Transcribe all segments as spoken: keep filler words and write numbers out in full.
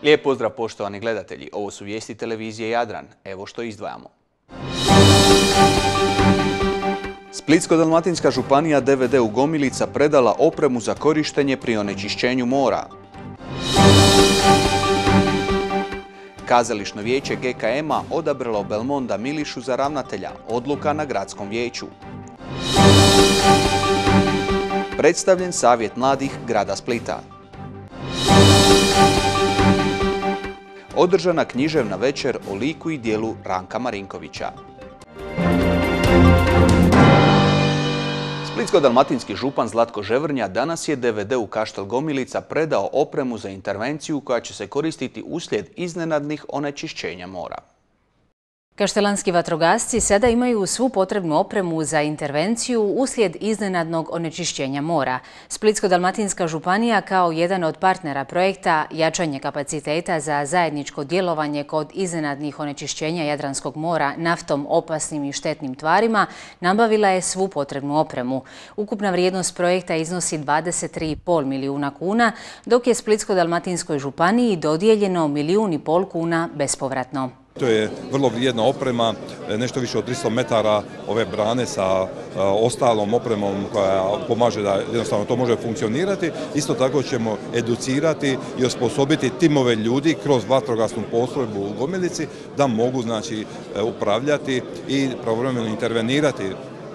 Lijep pozdrav poštovani gledatelji, ovo su vijesti televizije Jadran. Evo što izdvajamo. Splitsko-dalmatinska županija D V D u Gomilica predala opremu za korištenje pri onečišćenju mora. Kazališno vijeće G K M-a odabralo Belmonda Milišu za ravnatelja, odluka na gradskom vijeću. Predstavljen savjet mladih grada Splita. Održana književna večer o liku i djelu Ranka Marinkovića. Splitsko-dalmatinski župan Zlatko Ževrnja danas je D V D u Kaštel Gomilica predao opremu za intervenciju koja će se koristiti uslijed iznenadnih onečišćenja mora. Kaštelanski vatrogasci sada imaju svu potrebnu opremu za intervenciju uslijed iznenadnog onečišćenja mora. Splitsko-dalmatinska županija kao jedan od partnera projekta jačanje kapaciteta za zajedničko djelovanje kod iznenadnih onečišćenja Jadranskog mora naftom, opasnim i štetnim tvarima nabavila je svu potrebnu opremu. Ukupna vrijednost projekta iznosi dvadeset tri i pol milijuna kuna, dok je Splitsko-dalmatinskoj županiji dodijeljeno milijun i pol kuna bespovratno. To je vrlo vrijedna oprema, nešto više od tristo metara ove brane sa ostalom opremom koja pomaže da jednostavno to može funkcionirati. Isto tako ćemo educirati i osposobiti timove ljudi kroz vatrogasnu postrojbu u Gomilici da mogu znači upravljati i pravovremeno intervenirati,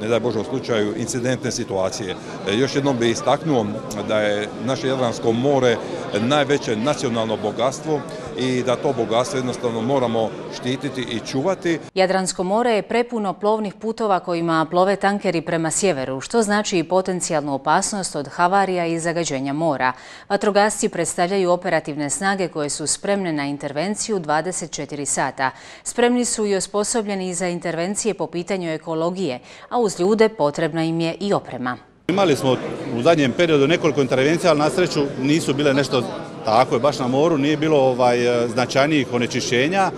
ne daj Bože u slučaju incidentne situacije. Još jednom bih istaknuo da je naše Jadransko more najveće nacionalno bogatstvo i da to bogatstvo jednostavno moramo štititi i čuvati. Jadransko more je prepuno plovnih putova kojima plove tankeri prema sjeveru, što znači i potencijalnu opasnost od havarija i zagađenja mora. Vatrogasci predstavljaju operativne snage koje su spremne na intervenciju dvadeset četiri sata. Spremni su i osposobljeni za intervencije po pitanju ekologije, a uz ljude potrebna im je i oprema. Imali smo u zadnjem periodu nekoliko intervencija, ali na sreću nisu bile nešto tako je, baš na moru, nije bilo ovaj, značajnijih onečišćenja.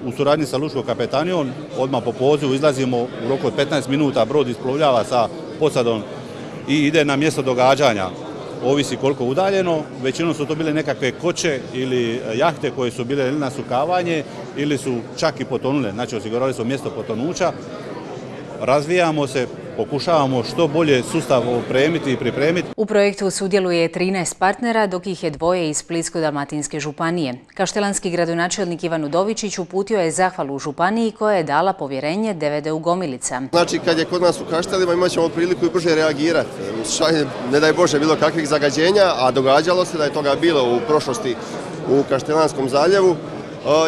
U suradnji sa lučkom kapetanijom odmah po pozivu izlazimo u roku od petnaest minuta, brod isplovljava sa posadom i ide na mjesto događanja. Ovisi koliko udaljeno, većinom su to bile nekakve koče ili jahte koje su bile ili na sukavanje ili su čak i potonule, znači osigurali smo mjesto potonuća. Razvijamo se, pokušavamo što bolje sustav opremiti i pripremiti. U projektu sudjeluje trinaest partnera, dok ih je dvoje iz Splitsko-dalmatinske županije. Kaštelanski gradonačelnik Ivan Udovičić uputio je zahvalu županiji koja je dala povjerenje D V D u Gomilica. Znači, kad je kod nas u Kaštelima imat ćemo priliku i brže reagirati. Ne daj Bože bilo kakvih zagađenja, a događalo se da je toga bilo u prošlosti u Kaštelanskom zaljevu.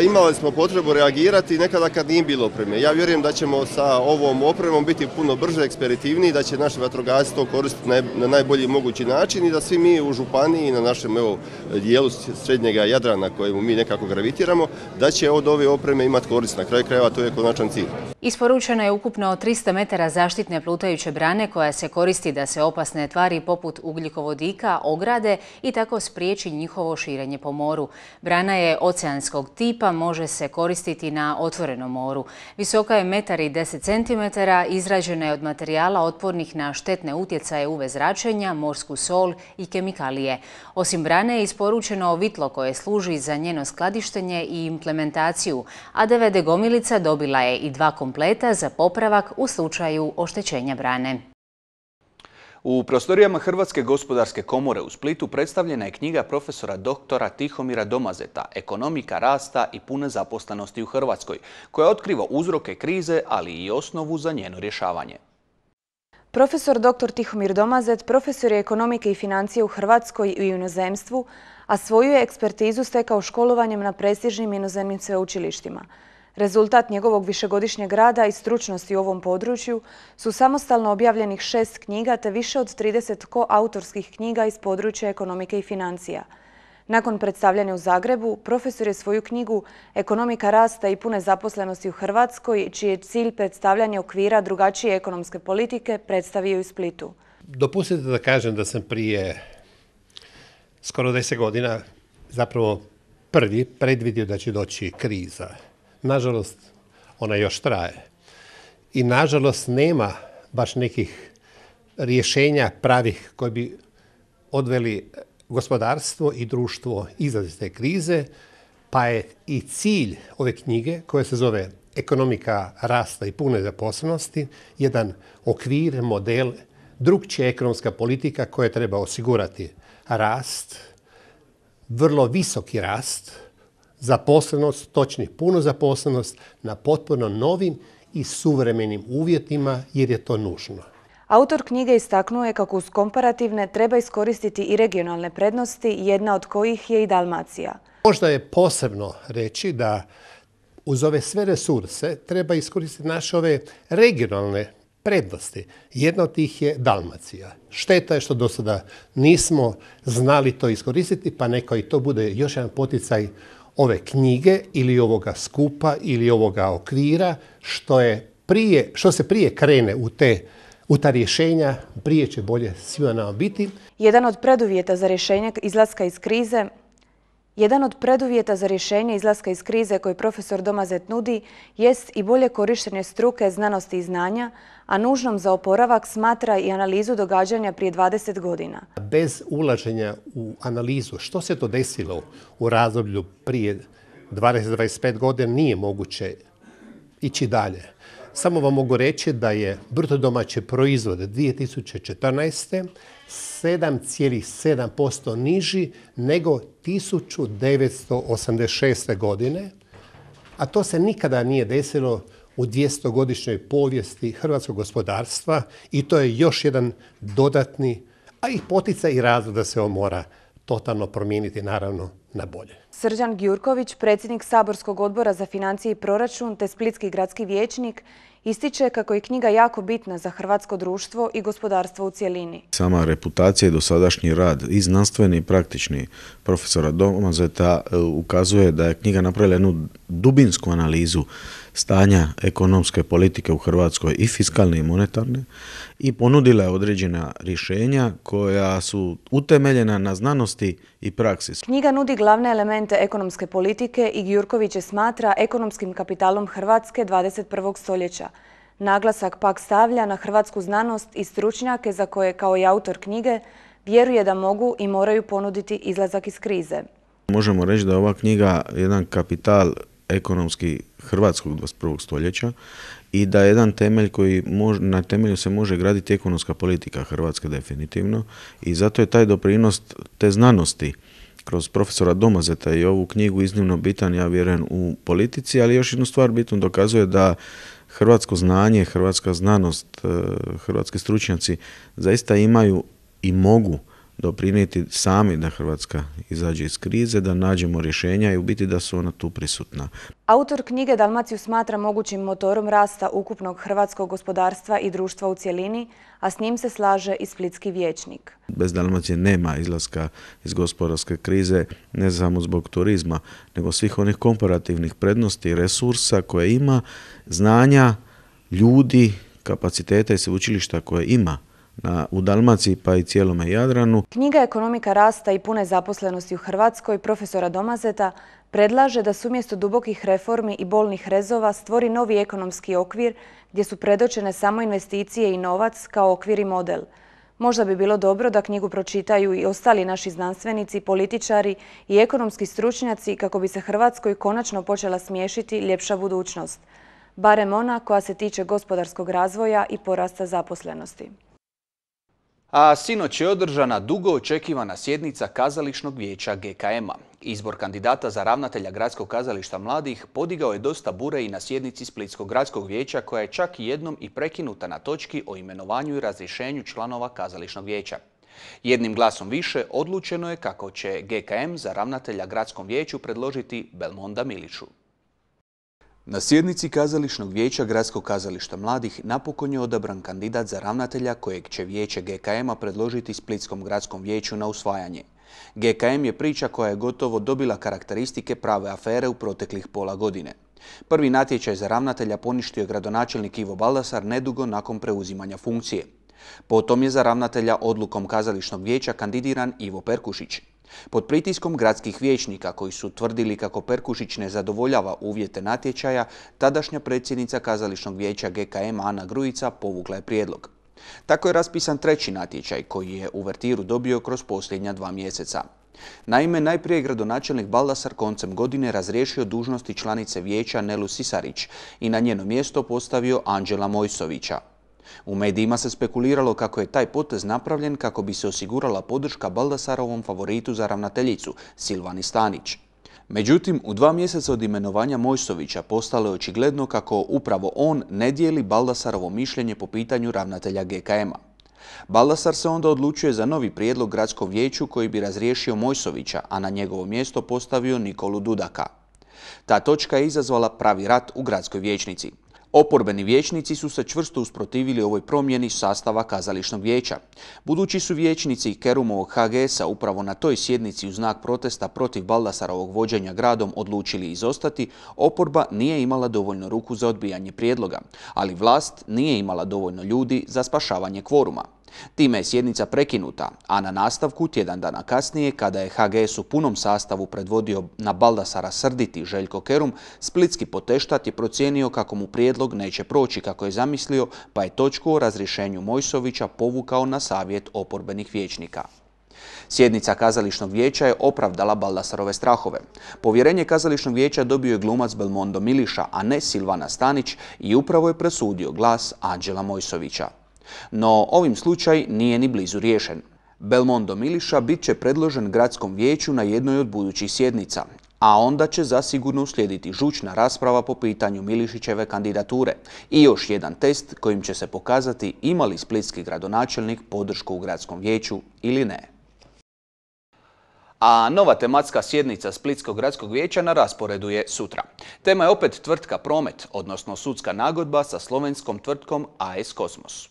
Imali smo potrebu reagirati nekada kad nije bilo opreme. Ja vjerujem da ćemo sa ovom opremom biti puno brže, ekspeditivniji, da će naši vatrogasci to koristiti na najbolji mogući način i da svi mi u županiji na našem evo, dijelu srednjega Jadrana kojemu mi nekako gravitiramo, da će od ove opreme imati korist. Na kraju krajeva to je konačan cilj. Isporučeno je ukupno tristo metara zaštitne plutajuće brane koja se koristi da se opasne tvari poput ugljikovodika ograde i tako spriječi njihovo širenje po moru. Brana je oceanskog tipa, može se koristiti na otvorenom moru. Visoka je metar i deset centimetara, izrađena je od materijala otpornih na štetne utjecaje U V zračenja, morsku sol i kemikalije. Osim brane je isporučeno vitlo koje služi za njeno skladištenje i implementaciju, a D V D Gomilica dobila je i dva kompleta za popravak u slučaju oštećenja brane. U prostorijama Hrvatske gospodarske komore u Splitu predstavljena je knjiga profesora doktora Tihomira Domazeta Ekonomika rasta i pune zaposlenosti u Hrvatskoj, koja otkriva uzroke krize, ali i osnovu za njeno rješavanje. Profesor doktor Tihomir Domazet profesor je ekonomike i financije u Hrvatskoj i u inozemstvu, a svoju je ekspertizu stekao školovanjem na prestižnim inozemnim sveučilištima. Rezultat njegovog višegodišnjeg rada i stručnosti u ovom području su samostalno objavljenih šest knjiga te više od trideset koautorskih knjiga iz područja ekonomike i financija. Nakon predstavljanja u Zagrebu, profesor je svoju knjigu Ekonomika rasta i pune zaposlenosti u Hrvatskoj, čiji je cilj predstavljanje okvira drugačije ekonomske politike, predstavio u Splitu. Dopustite da kažem da sam prije skoro deset godina zapravo prvi predvidio da će doći kriza. Nažalost, ona još traje. I nažalost nema baš nekih rješenja pravih koji bi odveli gospodarstvo i društvo izlazi iz te krize. Pa je i cilj ove knjige, koja se zove Ekonomika rasta i pune zaposlenosti, jedan okvir, model, drugčija ekonomska politika koja treba osigurati rast, vrlo visoki rast, zaposlenost, točnije punu zaposlenost na potpuno novim i suvremenim uvjetima jer je to nužno. Autor knjige istaknuo je kako uz komparativne treba iskoristiti i regionalne prednosti, jedna od kojih je i Dalmacija. Možda je posebno reći da uz ove sve resurse treba iskoristiti naše ove regionalne prednosti. Jedna od tih je Dalmacija. Šteta je što do sada nismo znali to iskoristiti, pa neka i to bude još jedan poticaj ove knjige ili ovoga skupa ili ovoga okvira, što, je prije, što se prije krene u te U ta rješenja prije će bolje svima nama biti. Jedan od preduvjeta za rješenje izlaska iz krize Jedan od preduvjeta za rješenje izlaska iz krize koji profesor Domazet nudi jest i bolje korištenje struke, znanosti i znanja, a nužnom za oporavak smatra i analizu događanja prije dvadeset godina. Bez ulaženja u analizu što se to desilo u razdoblju prije dvadeset do dvadeset pet godina nije moguće ići dalje. Samo vam mogu reći da je bruto domaći proizvod dvije tisuće četrnaeste. sedam zarez sedam posto niži nego tisuću devetsto osamdeset šeste. godine, a to se nikada nije desilo u dvjestogodišnjoj povijesti hrvatskog gospodarstva i to je još jedan dodatni, a i poticaj i razlog da se on mora totalno promijeniti, naravno, na bolje. Srđan Gjurković, predsjednik Saborskog odbora za financije i proračun te splitski gradski vijećnik, ističe kako je knjiga jako bitna za hrvatsko društvo i gospodarstvo u cjelini. Sama reputacija i dosadašnji rad i znanstveni i praktični profesora Domazeta ukazuje da je knjiga napravila jednu dubinsku analizu stanja ekonomske politike u Hrvatskoj i fiskalne i monetarne i ponudila je određena rješenja koja su utemeljena na znanosti i praksi. Knjiga nudi glavne elemente ekonomske politike i Gjurković je smatra ekonomskim kapitalom Hrvatske dvadeset prvog stoljeća. Naglasak pak stavlja na hrvatsku znanost i stručnjake za koje, kao i autor knjige, vjeruje da mogu i moraju ponuditi izlazak iz krize. Možemo reći da je ova knjiga jedan kapital ekonomski hrvatskog dvadeset prvog stoljeća i da je jedan temelj koji mož, na temelju se može graditi ekonomska politika Hrvatske definitivno i zato je taj doprinos te znanosti kroz profesora Domazeta i ovu knjigu iznimno bitan, ja vjerujem, u politici, ali još jednu stvar bitno dokazuje da hrvatsko znanje, hrvatska znanost, hrvatski stručnjaci zaista imaju i mogu doprinijeti sami da Hrvatska izađe iz krize, da nađemo rješenja i u biti da su ona tu prisutna. Autor knjige Dalmaciju smatra mogućim motorom rasta ukupnog hrvatskog gospodarstva i društva u cjelini, a s njim se slaže i splitski vijećnik. Bez Dalmacije nema izlaska iz gospodarske krize, ne samo zbog turizma, nego svih onih komparativnih prednosti i resursa koje ima, znanja, ljudi, kapaciteta i sveučilišta koje ima Na, u Dalmaciji pa i cijelome Jadranu. Knjiga Ekonomika rasta i pune zaposlenosti u Hrvatskoj profesora Domazeta predlaže da se umjesto dubokih reformi i bolnih rezova stvori novi ekonomski okvir gdje su predočene samo investicije i novac kao okvir i model. Možda bi bilo dobro da knjigu pročitaju i ostali naši znanstvenici, političari i ekonomski stručnjaci kako bi se Hrvatskoj konačno počela smiješiti ljepša budućnost, barem ona koja se tiče gospodarskog razvoja i porasta zaposlenosti. A sinoć je održana dugo očekivana sjednica Kazališnog vijeća G K M-a. Izbor kandidata za ravnatelja Gradskog kazališta mladih podigao je dosta bure i na sjednici Splitskog gradskog vijeća, koja je čak jednom i prekinuta na točki o imenovanju i razrješenju članova Kazališnog vijeća. Jednim glasom više odlučeno je kako će G K M za ravnatelja Gradskom vijeću predložiti Belmonda Miliću. Na sjednici Kazališnog vijeća Gradskog kazališta mladih napokon je odabran kandidat za ravnatelja kojeg će vijeće G K M-a predložiti Splitskom gradskom vijeću na usvajanje. G K M je priča koja je gotovo dobila karakteristike prave afere u proteklih pola godine. Prvi natječaj za ravnatelja poništio je gradonačelnik Ivo Baldasar nedugo nakon preuzimanja funkcije. Potom je za ravnatelja odlukom Kazališnog vijeća kandidiran Ivo Perkušić. Pod pritiskom gradskih vijećnika koji su tvrdili kako Perkušić ne zadovoljava uvjete natječaja, tadašnja predsjednica Kazališnog vijeća G K M Ana Grujica povukla je prijedlog. Tako je raspisan treći natječaj koji je uvertiru dobio kroz posljednja dva mjeseca. Naime, najprije je gradonačelnik Baldasar koncem godine razriješio dužnosti članice vijeća Nelu Sisarić i na njeno mjesto postavio Anđela Mojsovića. U medijima se spekuliralo kako je taj potez napravljen kako bi se osigurala podrška Baldasarovom favoritu za ravnateljicu, Silvani Stanić. Međutim, u dva mjeseca od imenovanja Mojsovića postalo je očigledno kako upravo on ne dijeli Baldasarovo mišljenje po pitanju ravnatelja G K M-a. Baldasar se onda odlučuje za novi prijedlog gradskom vijeću koji bi razriješio Mojsovića, a na njegovo mjesto postavio Nikolu Dudaka. Ta točka je izazvala pravi rat u gradskoj vijećnici. Oporbeni vijećnici su se čvrsto usprotivili ovoj promjeni sastava kazališnog vijeća. Budući su vijećnici Kerumovog H G S-a upravo na toj sjednici u znak protesta protiv Baldasarovog vođenja gradom odlučili izostati, oporba nije imala dovoljno ruku za odbijanje prijedloga, ali vlast nije imala dovoljno ljudi za spašavanje kvoruma. Time je sjednica prekinuta, a na nastavku tjedan dana kasnije, kada je H G S u punom sastavu predvodio na Baldasara srditi Željko Kerum, splitski poteštat je procijenio kako mu prijedlog neće proći kako je zamislio, pa je točku o razrješenju Mojsovića povukao na savjet oporbenih vijećnika. Sjednica kazališnog vijeća je opravdala Baldasarove strahove. Povjerenje kazališnog vijeća dobio je glumac Belmondo Miliša, a ne Silvana Stanić, i upravo je presudio glas Anđela Mojsovića. No, ovim slučaj nije ni blizu riješen. Belmondo Miliša bit će predložen gradskom vijeću na jednoj od budućih sjednica, a onda će zasigurno uslijediti žučna rasprava po pitanju Milišićeve kandidature i još jedan test kojim će se pokazati ima li splitski gradonačelnik podršku u gradskom vijeću ili ne. A nova tematska sjednica Splitskog gradskog vijeća na rasporedu je sutra. Tema je opet tvrtka Promet, odnosno sudska nagodba sa slovenskom tvrtkom A S Kosmos.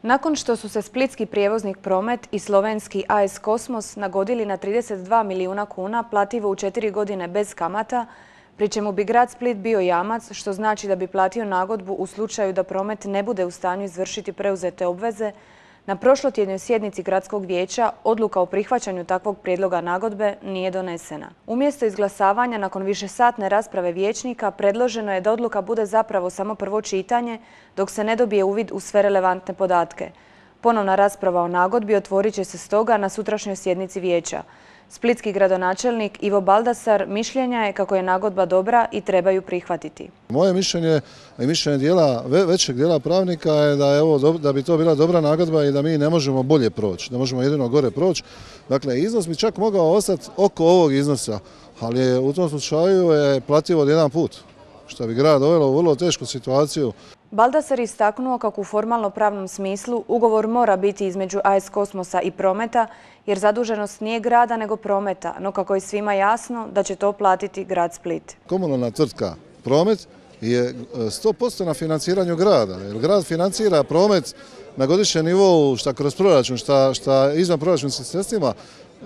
Nakon što su se splitski prijevoznik Promet i slovenski A S Kosmos nagodili na trideset dva milijuna kuna plativo u četiri godine bez kamata, pri čemu bi grad Split bio jamac, što znači da bi platio nagodbu u slučaju da Promet ne bude u stanju izvršiti preuzete obveze, na prošlotjednoj sjednici gradskog vijeća odluka o prihvaćanju takvog prijedloga nagodbe nije donesena. Umjesto izglasavanja nakon višesatne rasprave vijećnika predloženo je da odluka bude zapravo samo prvo čitanje dok se ne dobije uvid u sve relevantne podatke. Ponovna rasprava o nagodbi otvorit će se stoga na sutrašnjoj sjednici vijeća. Splitski gradonačelnik Ivo Baldasar mišljenja je kako je nagodba dobra i treba ju prihvatiti. Moje mišljenje i mišljenje dijela, većeg dijela pravnika je da, je ovo, da bi to bila dobra nagodba i da mi ne možemo bolje proći, da možemo jedino gore proći. Dakle, iznos bi čak mogao ostati oko ovog iznosa, ali je u tom slučaju je plativo od jedan put, što bi grad dovelo u vrlo tešku situaciju. Baldasar istaknuo kako u formalno pravnom smislu ugovor mora biti između A S Kosmosa i Prometa, jer zaduženost nije grada nego Prometa, no kako je svima jasno da će to platiti grad Split. Komunalna tvrtka Promet je sto posto na financiranju grada, jer grad financira promet na godišnjem nivou, šta kroz proračun, šta, šta izvan proračunskim sredstvima,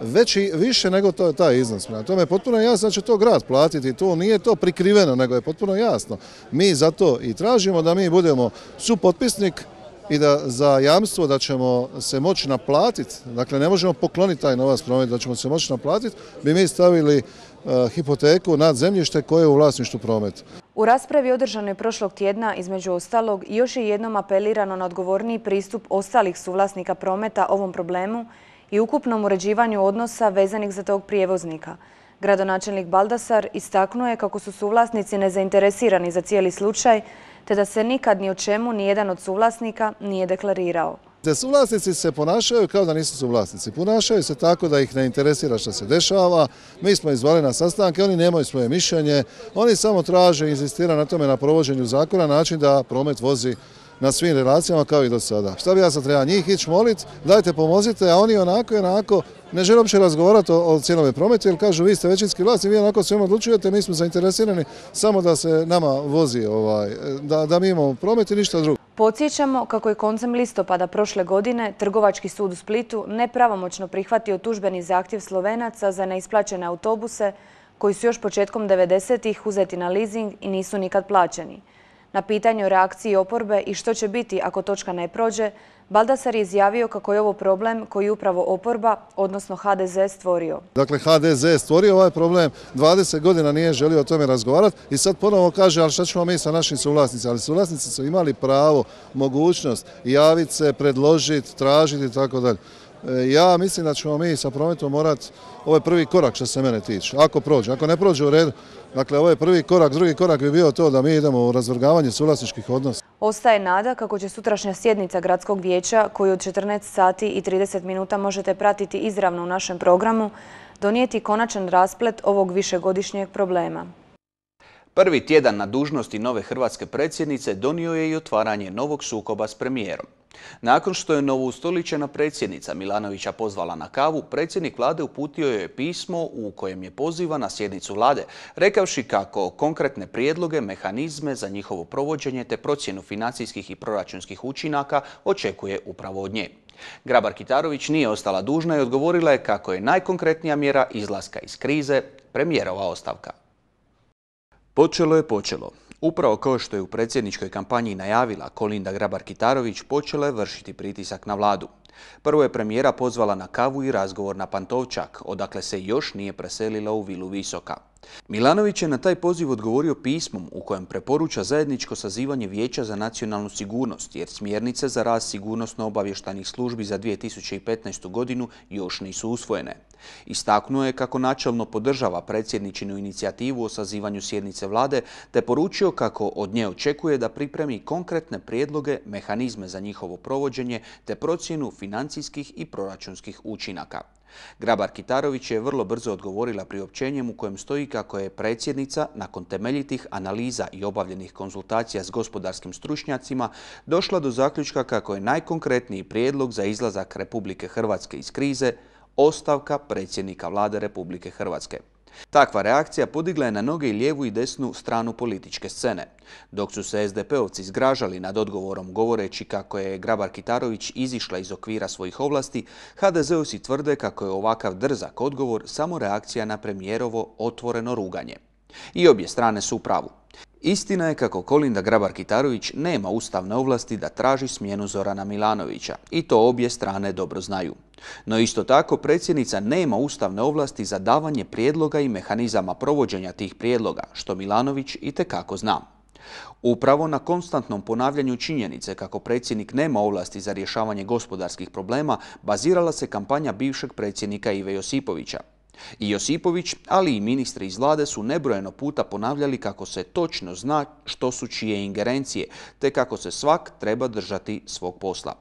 veći, više nego to je taj iznos. Na tome je potpuno jasno da će to grad platiti. To nije to prikriveno, nego je potpuno jasno. Mi zato i tražimo da mi budemo supotpisnik i da za jamstvo da ćemo se moći naplatiti, dakle ne možemo pokloniti taj novac Promet, da ćemo se moći naplatiti, bi mi stavili uh, hipoteku nad zemljište koje je u vlasništvu Prometa. U raspravi održanoj prošlog tjedna, između ostalog, još je jednom apelirano na odgovorniji pristup ostalih suvlasnika Prometa ovom problemu i ukupnom uređivanju odnosa vezanih za tog prijevoznika. Gradonačelnik Baldasar istaknuo je kako su suvlasnici nezainteresirani za cijeli slučaj, te da se nikad ni o čemu ni jedan od suvlasnika nije deklarirao. Te suvlasnici se ponašaju kao da nisu suvlasnici. Ponašaju se tako da ih ne interesira što se dešava. Mi smo izvali na sastanke, oni nemaju svoje mišljenje. Oni samo traže i insistiraju na tome na provođenju zakona, način da promet vozi na svim relacijama kao i do sada. Šta bi ja sad treba njih ići moliti, dajte pomozite, a oni onako i onako ne žele uopće razgovarati o, o cijelome prometu, jer kažu vi ste većinski vlasni, vi onako svema odlučujete, mi smo zainteresirani samo da se nama vozi, ovaj, da, da mi imamo promet i ništa drugo. Podsjećamo kako je koncem listopada prošle godine Trgovački sud u Splitu nepravomoćno prihvatio tužbeni zahtjev Slovenaca za neisplaćene autobuse koji su još početkom devedesetih uzeti na leasing i nisu nikad plaćeni. Na pitanje o reakciji oporbe i što će biti ako točka ne prođe, Baldasar je izjavio kako je ovo problem koji upravo oporba, odnosno H D Z, stvorio. Dakle, H D Z je stvorio ovaj problem, dvadeset godina nije želio o tome razgovarati i sad ponovo kaže, ali šta ćemo mi sa našim suvlasnicima? Ali suvlasnici su imali pravo, mogućnost javiti se, predložiti, tražiti i tako dalje. Ja mislim da ćemo mi sa prometom morati, ovo je prvi korak što se mene tiče, ako prođe, ako ne prođe u redu, dakle ovo je prvi korak, drugi korak bi bio to da mi idemo u razvrgavanje suvlasničkih odnosa. Ostaje nada kako će sutrašnja sjednica Gradskog vijeća, koju od četrnaest sati i trideset minuta možete pratiti izravno u našem programu, donijeti konačan rasplet ovog višegodišnjeg problema. Prvi tjedan na dužnosti nove hrvatske predsjednice donio je i otvaranje novog sukoba s premijerom. Nakon što je novoustoličena predsjednica Milanovića pozvala na kavu, predsjednik vlade uputio joj je pismo u kojem je poziva na sjednicu vlade, rekavši kako konkretne prijedloge, mehanizme za njihovo provođenje te procjenu financijskih i proračunskih učinaka očekuje upravo od nje. Grabar-Kitarović nije ostala dužna i odgovorila je kako je najkonkretnija mjera izlaska iz krize premijerova ostavka. Počelo je počelo. Upravo kao što je u predsjedničkoj kampanji najavila, Kolinda Grabar-Kitarović počela je vršiti pritisak na vladu. Prvo je premijera pozvala na kavu i razgovor na Pantovčak, odakle se još nije preselila u vilu Visoka. Milanović je na taj poziv odgovorio pismom u kojem preporuča zajedničko sazivanje Vijeća za nacionalnu sigurnost, jer smjernice za rad sigurnosno-obavještajnih službi za dvije tisuće petnaestu godinu još nisu usvojene. Istaknuo je kako načelno podržava predsjedničinu inicijativu o sazivanju sjednice vlade, te poručio kako od nje očekuje da pripremi konkretne prijedloge, mehanizme za njihovo provođenje te procjenu financijskih i proračunskih učinaka. Grabar-Kitarović je vrlo brzo odgovorila priopćenjem u kojem stoji kako je predsjednica, nakon temeljitih analiza i obavljenih konzultacija s gospodarskim stručnjacima, došla do zaključka kako je najkonkretniji prijedlog za izlazak Republike Hrvatske iz krize ostavka predsjednika vlade Republike Hrvatske. Takva reakcija podigla je na noge i lijevu i desnu stranu političke scene. Dok su se es de pe-ovci zgražali nad odgovorom govoreći kako je Grabar-Kitarović izišla iz okvira svojih ovlasti, ha de ze-ovci tvrde kako je ovakav drzak odgovor samo reakcija na premijerovo otvoreno ruganje. I obje strane su u pravu. Istina je kako Kolinda Grabar-Kitarović nema ustavne ovlasti da traži smjenu Zorana Milanovića i to obje strane dobro znaju. No isto tako predsjednica nema ustavne ovlasti za davanje prijedloga i mehanizama provođenja tih prijedloga, što Milanović itekako zna. Upravo na konstantnom ponavljanju činjenice kako predsjednik nema ovlasti za rješavanje gospodarskih problema bazirala se kampanja bivšeg predsjednika Ive Josipovića. I Josipović, ali i ministri iz vlade su nebrojeno puta ponavljali kako se točno zna što su čije ingerencije, te kako se svak treba držati svog posla.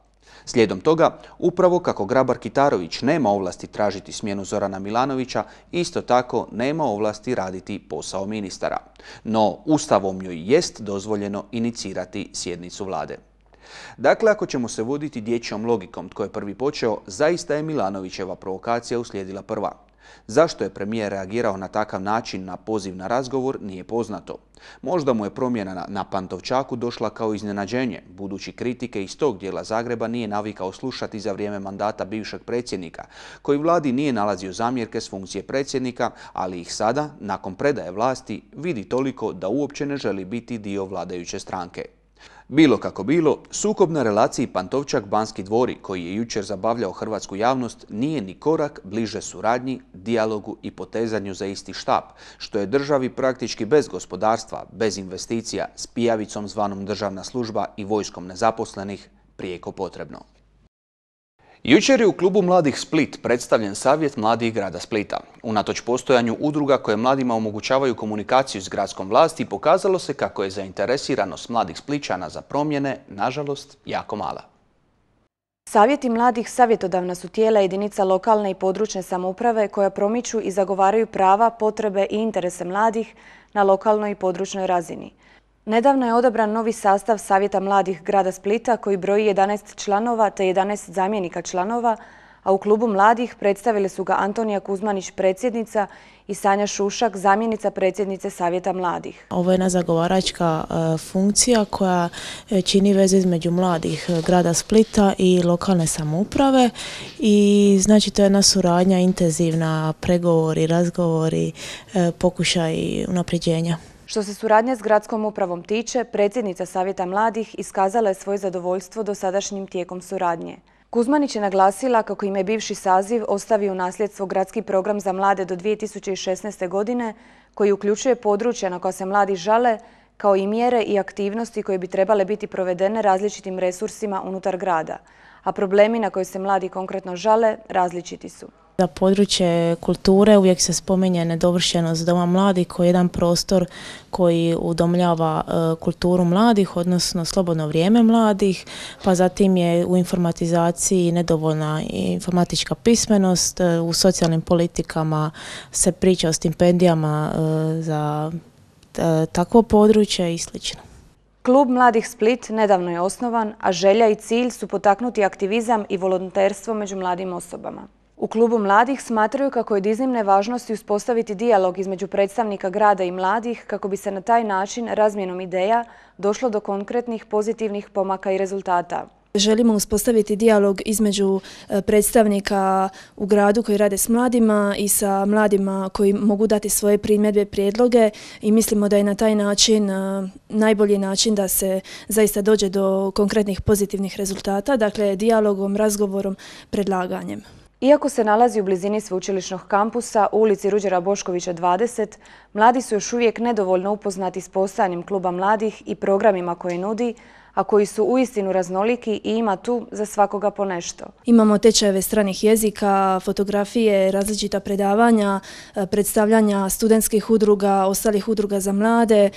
Slijedom toga, upravo kako Grabar-Kitarović nema ovlasti tražiti smjenu Zorana Milanovića, isto tako nema ovlasti raditi posao ministara. No, Ustavom joj jest dozvoljeno inicirati sjednicu vlade. Dakle, ako ćemo se voditi dječjom logikom tko je prvi počeo, zaista je Milanovićeva provokacija uslijedila prva. Zašto je premijer reagirao na takav način na poziv na razgovor nije poznato. Možda mu je promjena na Pantovčaku došla kao iznenađenje, budući kritike iz tog dijela Zagreba nije navikao slušati za vrijeme mandata bivšeg predsjednika, koji vladi nije nalazio zamjerke s funkcije predsjednika, ali ih sada, nakon predaje vlasti, vidi toliko da uopće ne želi biti dio vladajuće stranke. Bilo kako bilo, sukob na relaciji Pantovčak-Banski dvori, koji je jučer zabavljao hrvatsku javnost, nije ni korak bliže suradnji, dijalogu i potezanju za isti štap, što je državi praktički bez gospodarstva, bez investicija, s pijavicom zvanom državna služba i vojskom nezaposlenih prijeko potrebno. Jučer je u klubu Mladih Split predstavljen Savjet mladih grada Splita. Unatoč postojanju udruga koje mladima omogućavaju komunikaciju s gradskom vlasti, pokazalo se kako je zainteresiranost mladih Splićana za promjene, nažalost, jako mala. Savjeti mladih savjetodavna su tijela jedinica lokalne i područne samouprave koja promiču i zagovaraju prava, potrebe i interese mladih na lokalnoj i područnoj razini. Nedavno je odabran novi sastav Savjeta mladih grada Splita koji broji jedanaest članova te jedanaest zamjenika članova, a u klubu mladih predstavili su ga Antonija Kuzmanić, predsjednica, i Sanja Šušak, zamjenica predsjednice Savjeta mladih. Ovo je jedna zagovaračka funkcija koja čini veze između mladih grada Splita i lokalne samouprave i znači to je jedna suradnja intenzivna, pregovori, razgovori, pokušaj unapređenja. Što se suradnje s gradskom upravom tiče, predsjednica Savjeta mladih iskazala je svoje zadovoljstvo dosadašnjim tijekom suradnje. Kuzmanić je naglasila kako im je bivši saziv ostavio u nasljedstvo gradski program za mlade do dvije tisuće šesnaeste. godine, koji uključuje područja na koja se mladi žale, kao i mjere i aktivnosti koje bi trebale biti provedene različitim resursima unutar grada, a problemi na koje se mladi konkretno žale različiti su. Za područje kulture uvijek se spominje nedovršenost Doma mladih koji je jedan prostor koji udomljava e, kulturu mladih, odnosno slobodno vrijeme mladih, pa zatim je u informatizaciji nedovoljna informatička pismenost, e, u socijalnim politikama se priča o stipendijama e, za e, takvo područje i slično. Klub Mladih Split nedavno je osnovan, a želja i cilj su potaknuti aktivizam i volonterstvo među mladim osobama. U Klubu mladih smatraju kako je od iznimne važnosti uspostaviti dijalog između predstavnika grada i mladih kako bi se na taj način razmjenom ideja došlo do konkretnih pozitivnih pomaka i rezultata. Želimo uspostaviti dijalog između predstavnika u gradu koji rade s mladima i sa mladima koji mogu dati svoje primjedbe, prijedloge i mislimo da je na taj način najbolji način da se zaista dođe do konkretnih pozitivnih rezultata, dakle dijalogom, razgovorom, predlaganjem. Iako se nalazi u blizini sveučilišnog kampusa u ulici Ruđera Boškovića dvadeset, mladi su još uvijek nedovoljno upoznati s postojanjem Kluba mladih i programima koje nudi, a koji su uistinu raznoliki i ima tu za svakoga po nešto. Imamo tečajeve stranih jezika, fotografije, različita predavanja, predstavljanja studentskih udruga, ostalih udruga za mlade,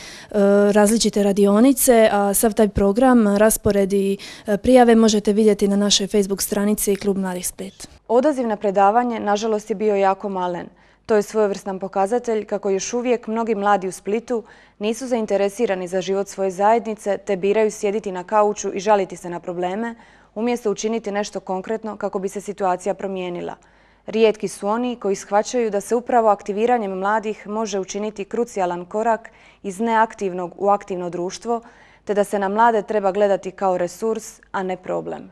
različite radionice, a sav taj program, raspored i prijave možete vidjeti na našoj Facebook stranici Klub Mladih Split. Odaziv na predavanje, nažalost, je bio jako malen. To je svojevrstan pokazatelj kako još uvijek mnogi mladi u Splitu nisu zainteresirani za život svoje zajednice te biraju sjediti na kauču i žaliti se na probleme, umjesto učiniti nešto konkretno kako bi se situacija promijenila. Rijetki su oni koji shvaćaju da se upravo aktiviranjem mladih može učiniti krucijalan korak iz neaktivnog u aktivno društvo, te da se na mlade treba gledati kao resurs, a ne problem.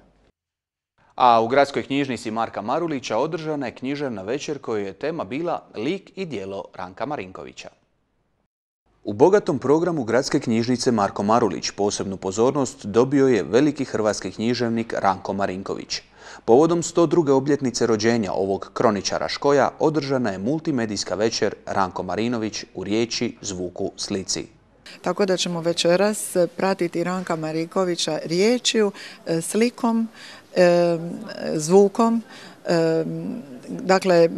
A u gradskoj knjižnici Marka Marulića održana je književna večer kojoj je tema bila lik i djelo Ranka Marinkovića. U bogatom programu gradske knjižnice Marko Marulić posebnu pozornost dobio je veliki hrvatski književnik Ranko Marinković. Povodom sto druge obljetnice rođenja ovog kroničara škoja održana je multimedijska večer Ranko Marinović u riječi, zvuku, slici. Tako da ćemo večeras pratiti Ranka Marinkovića riječju, slikom, zvukom. Dakle,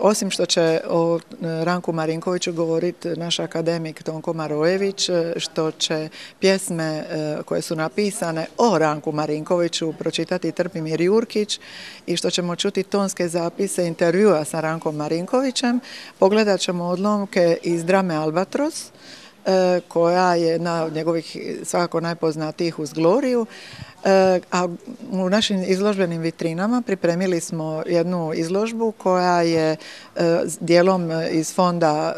osim što će o Ranku Marinkoviću govoriti naš akademik Tonko Marojević, što će pjesme koje su napisane o Ranku Marinkoviću pročitati Trpimir Jurkić i što ćemo čuti tonske zapise intervjua sa Rankom Marinkovićem, pogledat ćemo odlomke iz drame Albatros, koja je jedna od njegovih svakako najpoznatijih uz Gloriju. A u našim izložbenim vitrinama pripremili smo jednu izložbu koja je dijelom iz fonda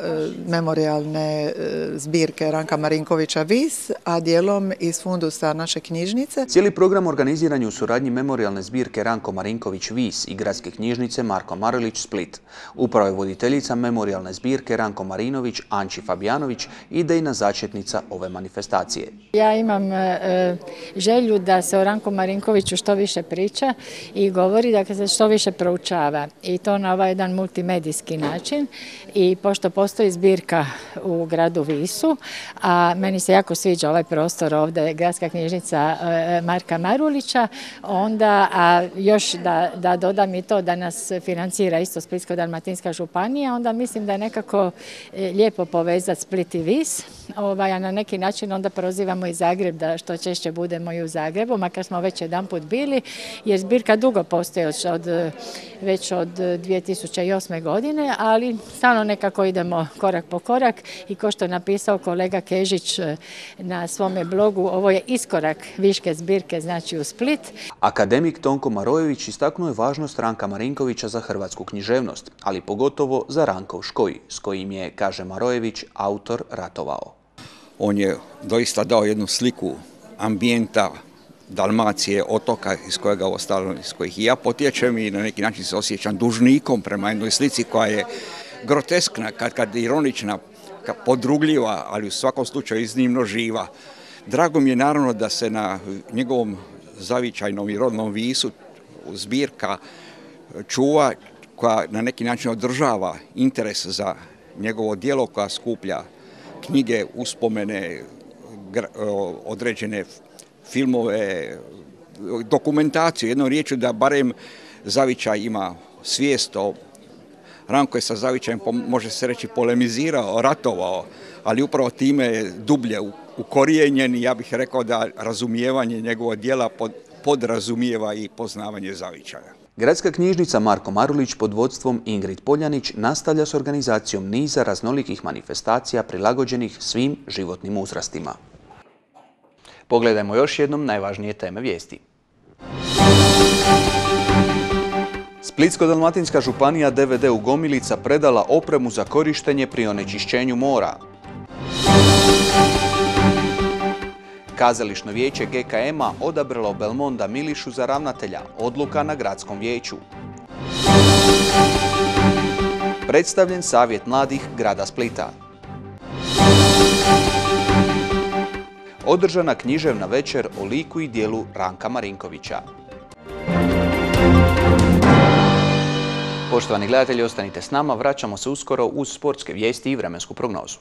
memorijalne zbirke Ranka Marinkovića Vis, a dijelom iz fundusa naše knjižnice. Cijeli program organiziran je u suradnji memorijalne zbirke Ranko Marinković Vis i gradske knjižnice Marko Marulić Split. Upravo je voditeljica memorijalne zbirke Ranko Marinović, Anči Fabijanović, idejna začetnica ove manifestacije. Ja imam e, želju da se o Ranku Marinkoviću što više priča i govori, da se što više proučava i to na ovaj jedan multimedijski način. I pošto postoji zbirka u gradu Visu, a meni se jako sviđa ovaj prostor ovdje, gradska knjižnica Marka Marulića, onda, a još da, da dodam i to da nas financira isto Splitsko-dalmatinska županija, onda mislim da je nekako lijepo povezati Split i Vis, ovaj, a na neki način onda prozivamo i Zagreb da što češće budemo i u Zagrebu, makar smo već jedan put bili, jer zbirka dugo postoji od, već od dvije tisuće osme. godine, ali stalno nekako idemo korak po korak i ko što je napisao kolega Kežić na svome blogu, ovo je iskorak viške zbirke, znači u Split. Akademik Tonko Marojević istaknuo je važnost Ranka Marinkovića za hrvatsku književnost, ali pogotovo za Rankov škoj, s kojim je, kaže Marojević, autor ratovao. On je doista dao jednu sliku ambijenta Dalmacije, otoka iz kojega ostalo, iz kojih i ja potječem i na neki način se osjećam dužnikom prema jednoj slici koja je groteskna, kad, kad ironična, kad podrugljiva, ali u svakom slučaju iznimno živa. Drago mi je naravno da se na njegovom zavičajnom i rodnom Visu zbirka čuva, koja na neki način održava interes za njegovo djelo, koja skuplja knjige, uspomene, određene filmove, dokumentaciju, jednom riječju da barem Zavičaj ima svijest o Ranko je sa Zavičajem, može se reći, polemizirao, ratovao, ali upravo time je dublje ukorijenjen i ja bih rekao da razumijevanje njegovog djela pod, podrazumijeva i poznavanje Zavičaja. Gradska knjižnica Marko Marulić pod vodstvom Ingrid Poljanić nastavlja s organizacijom niza raznolikih manifestacija prilagođenih svim životnim uzrastima. Pogledajmo još jednom najvažnije teme vijesti. Splitsko-dalmatinska županija D V D u Gomilica predala opremu za korištenje pri onečišćenju mora. Kazališno vijeće G K M-a odabralo Belmonda Milišu za ravnatelja, odluka na gradskom vijeću. Predstavljen savjet mladih grada Splita. Održana književna večer o liku i djelu Ranka Marinkovića. Poštovani gledatelji, ostanite s nama, vraćamo se uskoro uz sportske vijesti i vremensku prognozu.